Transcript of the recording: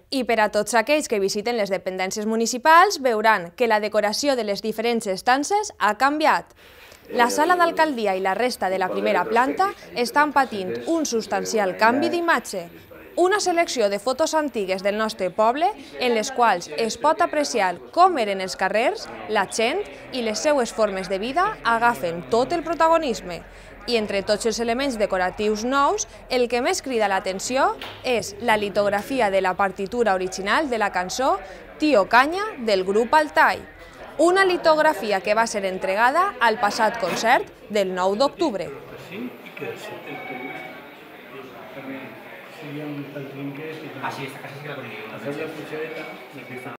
I per a tots aquells que visiten les dependències municipals veuran que la decoració de les diferents estances ha canviat. La sala d'alcaldia i la resta de la primera planta estan patint un substancial canvi d'imatge. Una selecció de fotos antigues del nostre poble en les quals es pot apreciar com eren els carrers, la gent i les seues formes de vida agafen tot el protagonisme. I entre tots els elements decoratius nous, el que més crida l'atenció és la litografia de la partitura original de la cançó Tío Canya del grup Altai. Una litografia que va ser entregada al passat concert del 9 d'octubre. Así, esta casa sí que la conozco.